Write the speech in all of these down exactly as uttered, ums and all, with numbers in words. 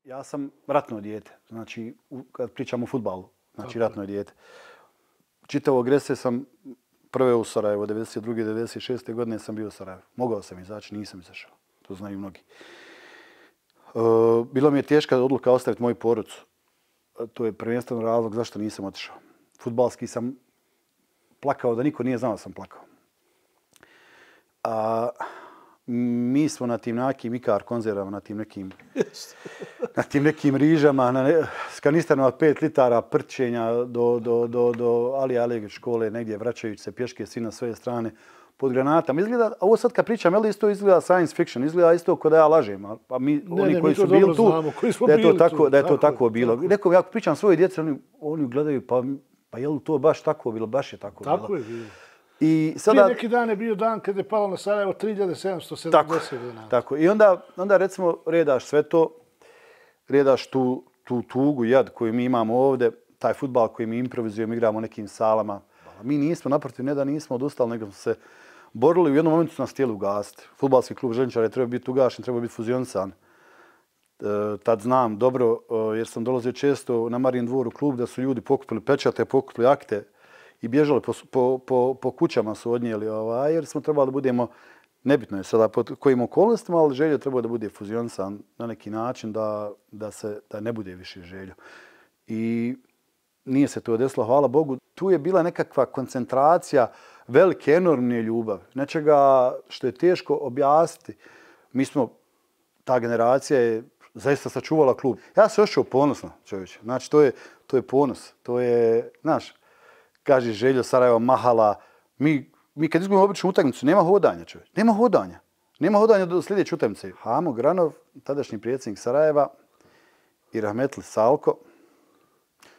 Ja sam ratno dijete, znači kad pričam o fudbalu, znači ratno dijete. Čitavo agresije sam prve u Sarajevo, devedeset druge devedeset šeste godine sam bio u Sarajevu. Mogao sam izaći, nisam izašao. To znaju mnogi. Uh, bilo mi je teška odluka ostaviti moju porodcu. To je prvenstveno razlog zašto nisam otišao. Fudbalski sam plakao da niko nije znao da sam plakao. A mi smo na tim nekim ikar konzervama, na tim nekim, na tim nekim rižama, na ne, s kanisterima od pet litara prćenja do, do, do, do Ali Alegić škole, negdje vraćajući se pješke svi na sve strane pod granatama. Izgleda, ovo sad kad pričam, jel isto izgleda science fiction, izgleda isto kao da ja lažem, a mi, ne, oni ne, koji mi su bili tu, znamo, koji da je to bili tako, tu, da je to tako, tako bilo. tako. Nekom, ja pričam svoje djece, oni, oni gledaju, pa, pa je li to baš tako bilo, baš je tako, tako bilo. Je bilo. I sada, prije neki dan je bio dan kada je palo na Sarajevo tri hiljade sedamsto sedamdeset dinara. Tako. I onda, onda recimo redaš sve to, redaš tu, tu tugu, jad koju mi imamo ovdje, taj fudbal koji mi improvizujemo, igramo u nekim salama. Mi nismo, naprotiv, ne da nismo odustali, nego smo se borili. U jednom momentu su nas htjeli ugasiti. Fudbalski klub Željničara je trebao biti ugašen, trebao biti fuzionisan. E, tad znam dobro, jer sam dolazio često na Marijin dvor u klub, da su ljudi pokupili pečate, pokupili akte i bježali po, po, po, po kućama su odnijeli, ovaj, jer smo trebali da budemo, nebitno je sada pod kojim okolnostima, ali Željo trebao da bude fuzionisan na neki način, da, da, se, da ne bude više Željo. I nije se to desilo, hvala Bogu. Tu je bila nekakva koncentracija velike, enormne ljubavi. Nečega što je teško objasniti. Mi smo, ta generacija je zaista sačuvala klub. Ja se osjećao ponosno, čovječe. Znači, to je, to je ponos. To je, znaš, kaže Željo Sarajevo, Mahala. Mi, mi kad izgubimo običnu utakmicu, nema hodanja, čovječe. Nema hodanja. Nema hodanja do sljedeće utakmice. Hamo Granov, tadašnji predsjednik Sarajeva, i rahmetli Salko,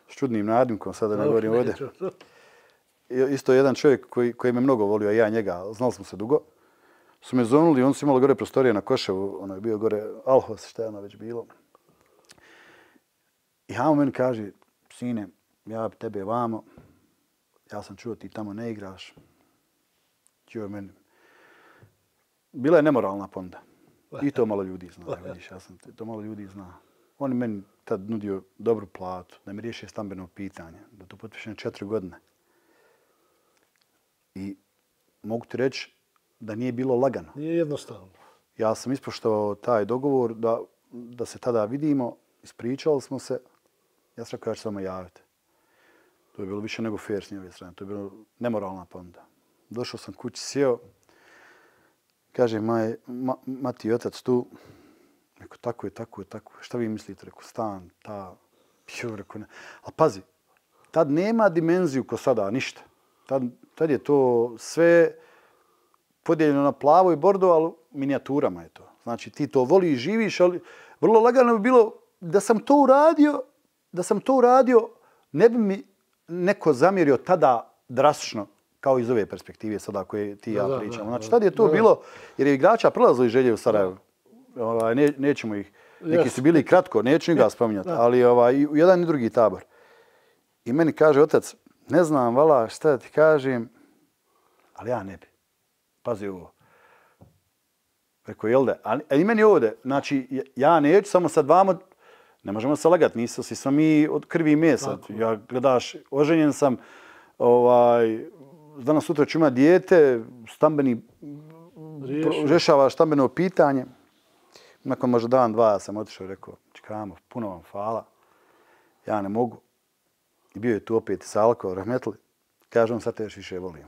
s čudnim nadimkom, sada ne govorim ovdje. Isto jedan čovjek koji, koji me mnogo volio, a ja njega, znali smo se dugo, su me zonuli, on su imali gore prostorije na Koševu, ono je bio gore Alhos, šta je ono već bilo. I Hamo meni kaže, sine, ja tebe vamo, ja sam čuo ti tamo ne igraš. Čuo meni. Bila je nemoralna ponuda. I to malo ljudi zna, vidiš, ja sam, to malo ljudi zna. On je meni tad nudio dobru platu, da mi riješi stambeno pitanje, da to potpišem četiri godine. I mogu ti reći da nije bilo lagano. Nije jednostavno. Ja sam ispoštovao taj dogovor da, da se tada vidimo, ispričali smo se, ja sam rekao ja ću se vama javiti. To je bilo više nego fair s njove strane, to je bilo nemoralna ponuda. Došao sam kući, sjeo, kaže maj, ma, mati i otac tu, rekao tako je, tako je, tako je, šta vi mislite, rekao stan, ta, jo, rekao ne. Ali pazi, tad nema dimenziju ko sada, ništa. Tad, tad je to sve podijeljeno na plavo i bordo, ali minijaturama je to. Znači ti to voli i živiš, ali vrlo lagano bi bilo da sam to uradio, da sam to uradio, ne bi mi neko zamjerio tada drastično, kao iz ove perspektive sada koje ti i ja pričamo. Znači tad je to bilo, jer je igrača prelazili Želje u Sarajevo. Ovaj, ne, nećemo ih, neki su bili kratko, neću ga spominjati, ali ovaj, u jedan i drugi tabor. I meni kaže otac, ne znam, vala, šta da ti kažem, ali ja ne bi. Pazi ovo. Rekao, jel da? A i meni ovdje, znači, ja neću, samo sad vamo, ne možemo se lagati, nisu si smo mi od krvi i mesa. Ja, gledaš, oženjen sam, ovaj, danas sutra ću imati dijete, stambeni, rješava stambeno pitanje. Nakon možda dan, dva, ja sam otišao i rekao, čekamo, puno vam hvala, ja ne mogu. I bio je tu opet Salko, rahmetli. Kažem, sad te još više volim.